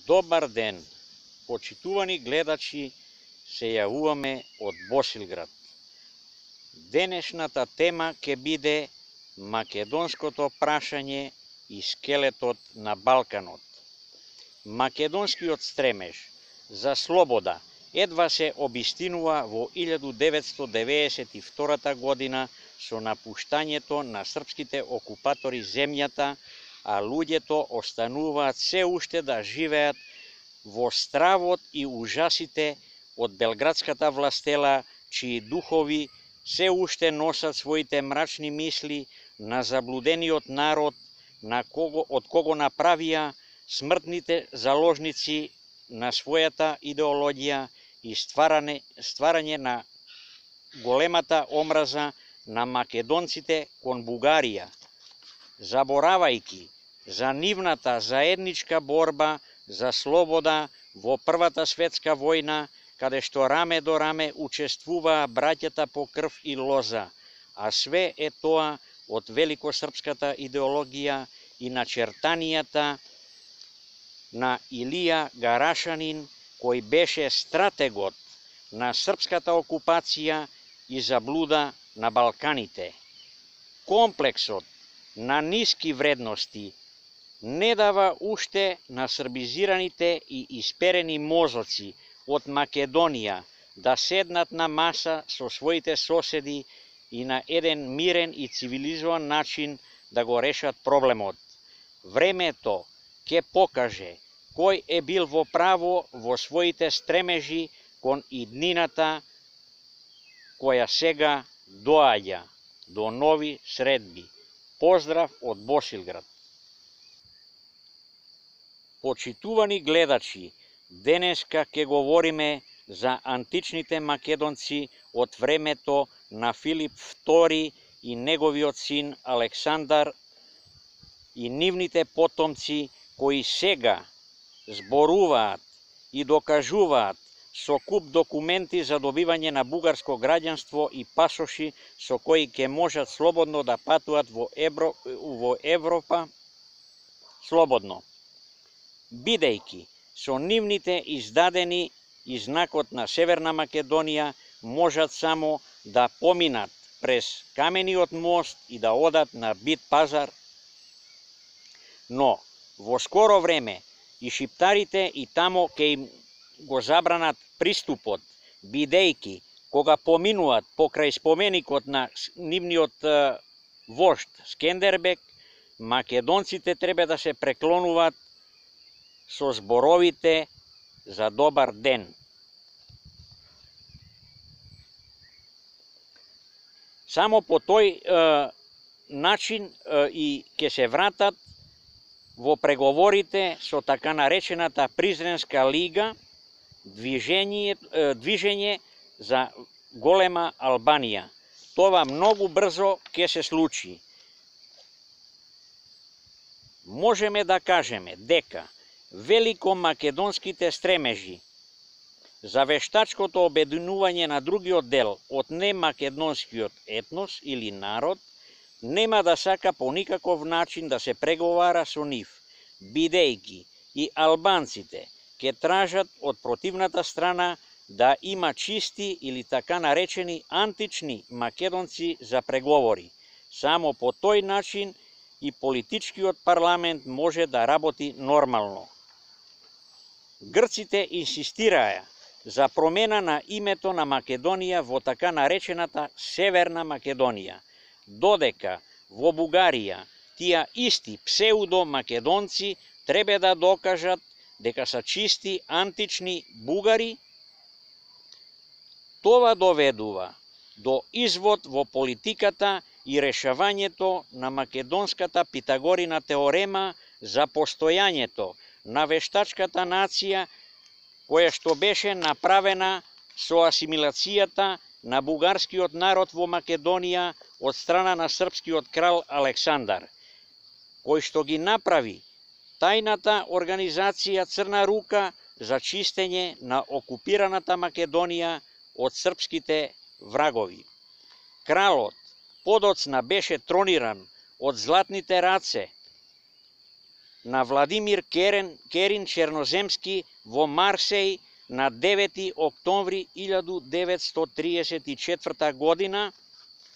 Добар ден, почитувани гледачи, се јавуваме од Босилград. Денешната тема ќе биде македонското прашање и скелетот на Балканот. Македонскиот стремеж за слобода едва се обистинува во 1992 година со напуштањето на српските окупатори земјата, а луѓето остануваат се уште да живеат во стравот и ужасите од белградската властела, чии духови се уште носат своите мрачни мисли на заблудениот народ, од кого направија смртните заложници на својата идеологија и стварање на големата омраза на македонците кон Бугарија, заборавајќи за нивната заедничка борба за слобода во Првата светска војна, каде што раме до раме учествуваа браќата по крв и лоза, а све е тоа од великосрпската идеологија и начертанијата на Илија Гарашанин, кој беше стратегот на српската окупација и заблуда на Балканите. Комплексот на ниски вредности не дава уште на србизираните и исперени мозоци од Македонија да седнат на маса со своите соседи и на еден мирен и цивилизован начин да го решат проблемот. Времето ќе покаже кој е бил во право во своите стремежи кон иднината која сега доаѓа до нови средби. Поздрав од Босилград. Почитувани гледачи, денеска ќе говориме за античните македонци од времето на Филип II и неговиот син Александар и нивните потомци кои сега зборуваат и докажуваат со куп документи за добивање на бугарско граѓанство и пасоши со кои ќе можат слободно да патуваат во Европа слободно, бидејќи со нивните издадени и знакот на Северна Македонија можат само да поминат през камениот мост и да одат на Бит пазар, но во скоро време и шиптарите и тамо ќе им го забранат приступот, бидејќи кога поминуваат покрај споменикот на нивниот вожд Скендербек, македонците треба да се преклонуваат со зборовите за добар ден. Само по тој начин и ќе се вратат во преговорите со така наречената Призренска лига, движење за голема Албанија. Тоа многу брзо ќе се случи. Можеме да кажеме дека великомакедонските стремежи за вештачкото обединување на другиот дел од немакедонскиот етнос или народ нема да сака по никаков начин да се преговара со нив, бидејќи и албанците ќе тражат од противната страна да има чисти или така наречени антични македонци за преговори. Само по тој начин и политичкиот парламент може да работи нормално. Грците инсистираа за промена на името на Македонија во така наречената Северна Македонија, додека во Бугарија тие исти псевдо-македонци треба да докажат дека се чисти антични бугари. Тоа доведува до извод во политиката и решавањето на македонската Питагорина теорема за постојањето на вештачката нација, која што беше направена со асимилацијата на бугарскиот народ во Македонија од страна на српскиот крал Александар, кој што ги направи тајната организација Црна рука за чистење на окупираната Македонија од српските врагови. Кралот подоцна беше трониран од златните раце на Владимир Керин Черноземски во Марсеј на 9 октомври 1934 година,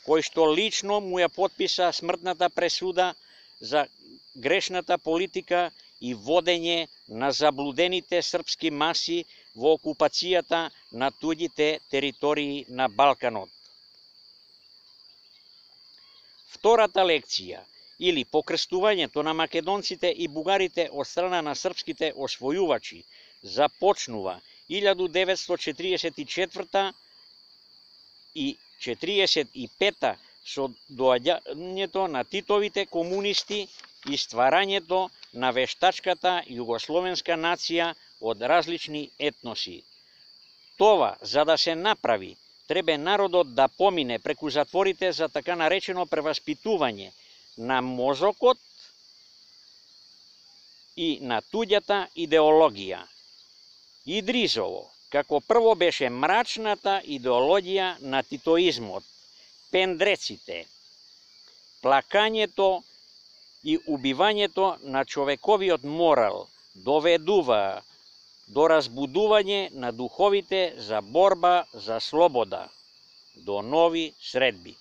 кој што лично му ја потписа смртната пресуда за грешната политика и водење на заблудените српски маси во окупацијата на туѓите територии на Балканот. Втората лекција, или покрстувањето на македонците и бугарите од страна на српските освојувачи, започнува 1944 и 1945 со доаѓањето на Титовите комунисти и стварањето на вештачката југословенска нација од различни етноси. Това, за да се направи, требе народот да помине преку затворите за така наречено преваспитување на мозокот и на туѓата идеологија. Идризово, како прво беше мрачната идеологија на титоизмот, пендреците, плакањето и убивањето на човековиот морал доведува до разбудување на духовите за борба за слобода, до нови средби.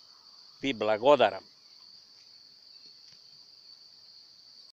Ви благодарам.